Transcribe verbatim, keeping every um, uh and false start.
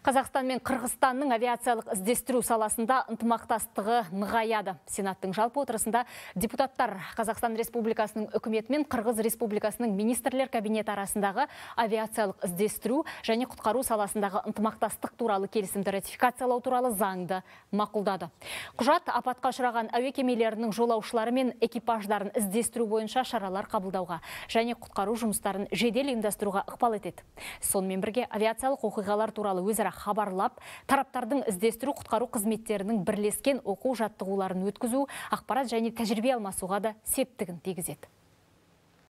Қазақстан мен Қырғызстанның авиациялық іздестіру саласында ынтымақтастығы нығаяды. Сенаттың жалпы отырысында депутаттар Қазақстан Республикасының үкіметі мен Қырғыз Республикасының министрлер кабинеті арасындағы авиациялық іздестіру және құтқару саласындағы ынтымақтастық туралы келісімді ратификациялау туралы заңды мақұлдады. Құжат апатқа ұшыраған әуе кемелерінің жолаушылары мен экипаждарын іздестіру бойынша шаралар қабылдауға және құтқару жұмыстарын жедел ұйымдастыруға ықпал етеді. Сонымен бірге авиациялық оқиғалар туралы өзара хабарлап, тараптардың іздестіру құтқару қызметтерінің бірлескен оқу жаттығуларын өткізу, ақпарат және тәжірибе алмасуға да септігін тигізеді.